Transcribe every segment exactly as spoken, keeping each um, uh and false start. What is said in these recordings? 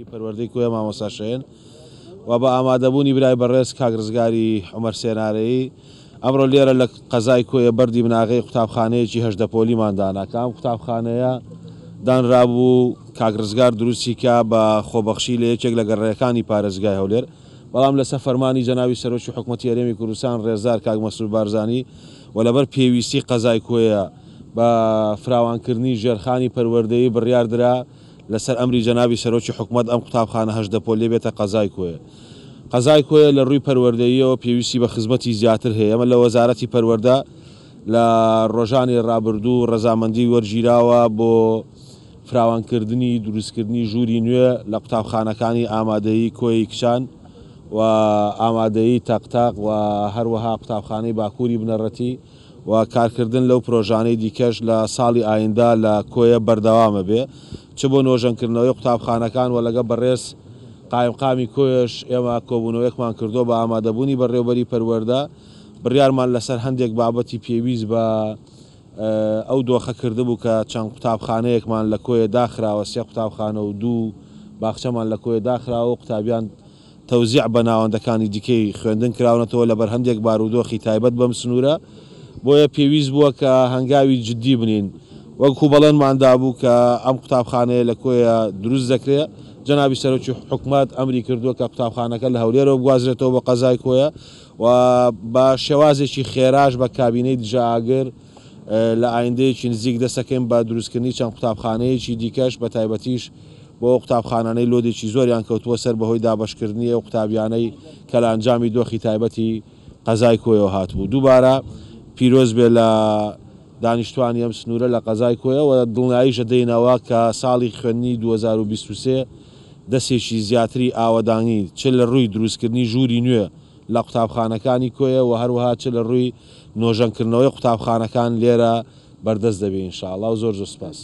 پەروەردەی کۆیە مامۆستا شەهێن و بە ئامادەبوونی برای بەڕێز کاک ڕزگاری عومەر سێنارەیی ئەمڕۆ لێرە لە قەزای کۆیە بەردی بناغەی قوتابخانەیەکی هەژدە پۆلیمان دانا کە ئەم قوتابخانەیە دانرابوو کاک ڕزگار دروستی کا بە خۆبەخشی لە یەکێک لە گەڕەکانی پارێزگای هەولێر، بەڵام لەسەر فەرمانی جەنابی سەرۆکی حکومەتی هەرێمی کوردستان ڕێزدار کاک مەسرور بارزانی و لەبەر پێویستی قەزای کۆیە بە فراوانکردنی ژێرخانی پەروەردەیی بڕیار درا لەسەر ئەمری جەنابی سەرۆکی حکومەت ئەم قوتابخانە هەژدە پۆلیە بێتە قەزای کۆیە. قەزای کۆیە لە ڕووی پەروەردەییەوە پێویستی بە خزمەتی زیاتر هەیە. ئێمە لە وەزارەتی پەروەردە لە ڕۆژانی ڕابردوو ڕەزامەندی وەرگیراوە بۆ فراوانکردنی دروستکردنی ژووری نوێ لە قوتابخانەکانی ئامادەیی کۆیەی کچان و ئامادەیی تەقتەق و هەروەها قوتابخانەی باکووری بنەڕەتی و کارکردن لەو پرۆژانەی دیکەش لە ساڵی ئایندە لە کۆیە بەردەوامە بێ چ بۆ نۆژەنکردنەوەی قوتابخانەکان و لەگە بەڕێز قایمقامی کۆیەش ئێمە کۆبوونەوەیەکمان کردووە بە ئامادەبوونی بەڕێوبەری پەروەردە، بڕیارمان لەسەر هەندێک بابەتی پێویست بە ئەو دۆخە کردبوو کە چەند قوتابخانەیەکمان لە کۆیە داخراوە، سێ قوتابخانە و دوو باخچەمان لە کۆیە داخراوە و قوتابیان تەوزیع بە ناوەندەکانی دیکەی خوێندن کراونەتەوە لەبەر هەندێک بارودۆخی تایبەت بەم سنوورە، بۆیە پێویست بووە کە هەنگاوی جدی بنین. وەکو بەڵێنمان دابوو کە ئەم قوتابخانەیە لە کۆیە دروست دەکرێت، جەنابی سەرۆکی حکومەت ئەمری کردووە کە قوتابخانەکە لە هەولێرەوە بگوازرێتەوە بۆ قەزای کۆیە و بە شێوازێکی خێراش بە کابینەی دژە ئاگر لە ئایندەیەکی نزیک دەسەکەین بە دروستکردنی چەند قوتابخانەیەکی دیکەش، بە تایبەتیش بۆ قوتابخانانەی لۆدێکی زۆریان کەوتووە سەر بەهۆی دابەشکردنی ئەو قوتابیانەی کە لە ئەنجامی دۆخی تایبەتی قەزای کۆیەوە هاتبوو. دووبارە پیرۆز بێ لە دانیشتوانی ئەم سنوورە لە قەزای کۆیە و دڵنیاییش دەینەوە کە ساڵی خوێندنی دوو هەزار و بیست و سێ دەستێکی زیاتری ئاوەدانی چ لە ڕووی دروستکردنی ژووری نوێ لە قوتابخانەکانی کۆیە و هەروەها چ لە ڕووی نۆژەنکردنەوەی قوتابخانەکان لێرە بەردەست دەبێ ئینشاءڵڵا. و زۆر زۆر سپاس.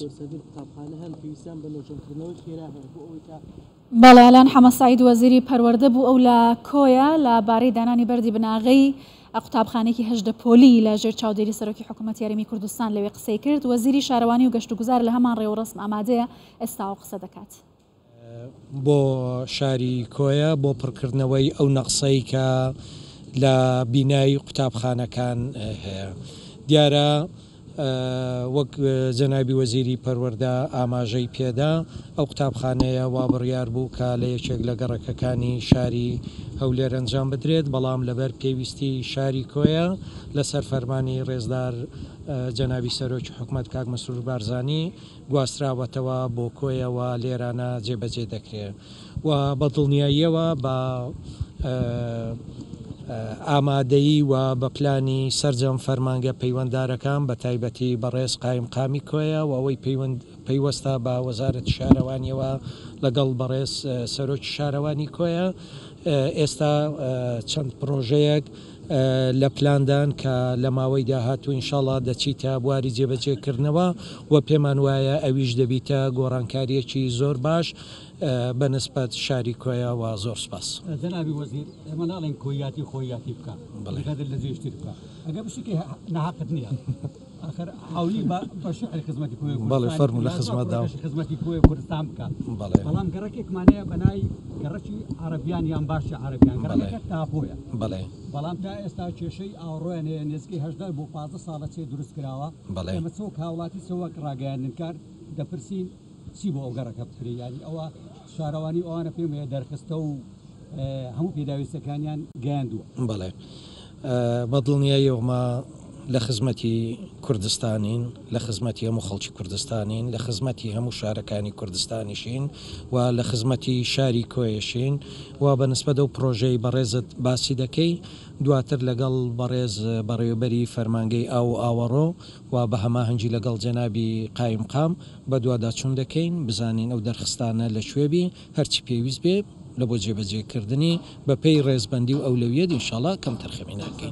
بەڵێ ئالان حەمە سعید وەزیری پەروەردە بوو، ئەو لە کۆیە لە بارەی دانانی بەردی بناغەی قوتابخانەیەکی هەژدە پۆلی لە ژێر چاودێری سەرۆکی حکوومەتی هەرێمی کوردستان لەوێ قسەی کرد. وەزیری شارەوانی و گەشتوگوزار لە هەمان ڕێوڕەسم ئامادەیە ئێستاوە قسە دەکات. بۆ شاری کۆیە بۆ پڕکردنەوەی ئەو نەقسەی کە لە بینای قوتابخانەکان هەیە. دیارە وەک جەنابی وەزیری پەروەردە ئاماژەی پێدا، ئەو قوتابخانەیە وا بڕیار بوو کە لە یەکێک لە گەڕەکەکانی شاری هەولێر ئەنجام بدرێت، بەڵام لەبەر پێویستی شاری کۆیە لەسەر فەرمانی ڕێزدار جەنابی سەرۆکی حکومەت کاک مەسرور بارزانی گواستراوەتەوە بۆ کۆیەوە لێرانە جێبەجێ دەکرێت و بە دڵنیاییەوە بە ئامادەیی و بە پلانی سەرجەم فەرمانگە پەیوەنددارەکان بە تایبەتی بەڕێز قایمقامی کۆیە و ئەوەی پەیوەستە بە وەزارەتی شارەوانیەوە لەگەڵ بەڕێز سەرۆکی شارەوانی کۆیە ئێستا چەند پرۆژەیەک لە پلاندان کە لە ماوەی داهاتوو ئینشاڵڵا دەچیتە بواری جێبەجێکردنەوە و پێمان وایە ئەویش دەبیتە گۆڕانکاریەکی زۆر باش بە نسبەت شاری کۆیە و زۆر سپاس. جەنابی وەزیر، ئێمە ناڵێن کۆیاتی خۆیاتی بکە، بەقەدر لە جێشتر بکە، ئەگەر بشتێکی ناحەقت نییە. آخر حاولی بە شعر خزمەتی کۆیە بەڵێ فەرموو لە خزمەتدا خزمەتی کۆیە کوردستان بکە. بەڵام گەڕەکێکمان هەیە بەنای گەڕەکی عەرەبیان یان باشی عەرەبیان، گەڕەکەکە تاپۆیە. بەڵێ. بەڵام تا ئێستا کێشەی ئاوڕۆیان هەیە، نزیکەی هەژدە بۆ پازدە ساڵە چێ دروست کراوە. ئێمە چ وەک هاوڵاتی چ وەک ڕاگەیاندنکار دەپرسین چی بۆ ئەو گەڕەکە بکرێ، یعنی ئەوە شارەوانی ئەوانە پێم هەیە دەرخستە و هەموو پێداویستەکانیان گەیاندووە. بەڵێ بە دڵنیاییەوەمە لە خزمەتی کوردستانین، لە خزمەتی هەموو خەڵکی کوردستانین، لە خزمەتی هەموو شارەکانی کوردستانیشین و لە خزمەتی شاری کۆیەشین و بە نسبەت ئەو پرۆژەی بەڕێزت باسی دەکەی دواتر لەگەڵ بەڕێز بەڕێوەبەری فەرمانگەی ئاو و ئاوەڕۆ و بە هەماهەنگی لەگەڵ جەنابی قایمقام بەدواداچوون دەکەین بزانین ئەو دەرخستانە لەکوێ بی، هەرچی پێویست بێ لە بۆ جێبەجێکردنی بە پێی ڕێزبەندی و ئەولەویەت ئینشاڵڵا کەم تەرخەمی ناکەین.